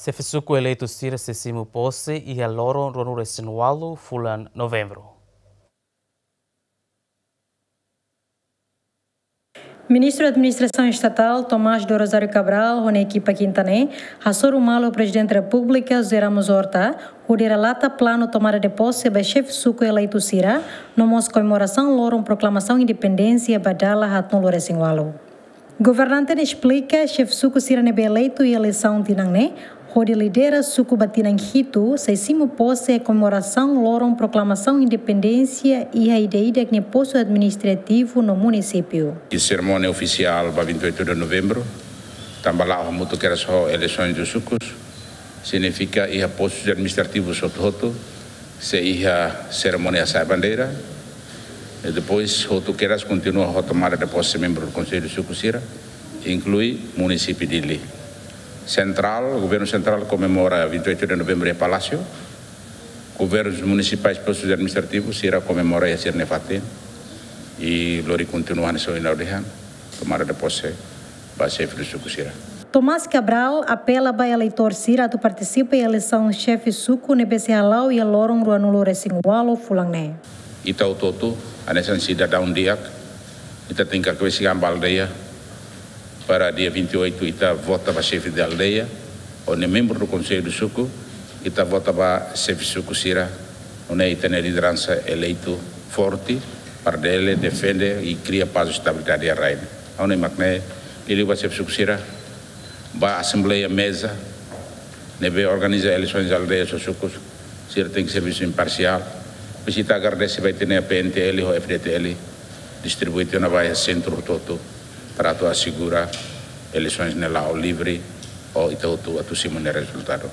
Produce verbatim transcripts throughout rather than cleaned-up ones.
Xefe suku eleitu sira sei simu pose iha loron ruanulu-resin-ualu fulan Novembru. Ministru Administrasaun Estatál, Tomás do Rosário Cabral, ho nia ekipa kinta ne'e hasoru malu Prezidente Repúblika, José Ramos Horta, hodi relata planu tomada de pose ba xefe suku eleitu sira, no mós komemorasaun loron proklamasaun independénsia ba dala haatnulu-resin-ualu. Governante ne'e esplika, xefe suku sira ne'ebé eleitu iha eleisaun tinan ne'e, hodi lidera suku ba tinan hitu, sei simu pose iha komemorasaun loron proklamasaun independénsia iha ida-idak nia postu administrativu no munisípiu. Iha serimónia ofisiál ba vinte e oito de novembro, tanba la'o hamutuk kedas ho eleisoens dos sukus, signifika iha postus administrativus hotu-hotu sei iha serimónia hasa'e bandeira, i depois hotu kedas kontinua ho tomada de pose membru do Konsellu Suku sira, inklui munisípiu Dili. Sentrál, governu sentrál komemora vinte e oito de novembro iha Palásiu, governus munisipais, postus administrativus sira komemora iha sira-nia fatin, i lori kontinua hanesan ohin ha'u dehan, tomada de pose ba xefe suku sira. Tomás Cabral apela ba eleitór sira atu partisipa iha eleisaun xefe suku ne'ebé sei hala'o iha loron ruanulu-resin-ualu fulan ne'e. Ita hotu-hotu, hanesan sidadaun di'ak, ita tenke hakbesik an ba aldeia, para dia vinte e oito ita vota ba xefe de aldeia, nune'e membru do Konsellu Suku, ita vota ba xefe suku sira, nune'e ita-nia lideransa eleitu forte, para bele defende i kria pás i estabilidade iha rai ne'e. Ha'u-nia mak ne'e, liuliu ba xefe suku sira, ba asembleia meza ne'ebé organiza eleisoens aldeias ho sukus, sira tenke servisu imparsiál. Depois ita agradese ba ita-nia P N T L ho F D T L, distribui tiha ona ba iha sentru hotu-hotu, para atu asegura eleisoens ne'e la'o livre, ho ita hotu atu simu nia rezultadu.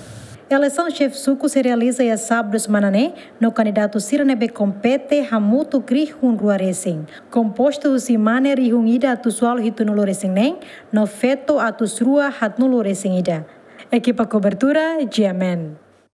Eleisaun xefe suku sei realiza iha sábadu semana ne'e, no kandidatu sira ne'ebé kompete hamutuk rihun rua resin. Kompostu husi mane rihun ida atus ualu hitunulu-resin-neen, no feto atus rua haatnulu-resin-ida. Ekipa kobertura, G M N.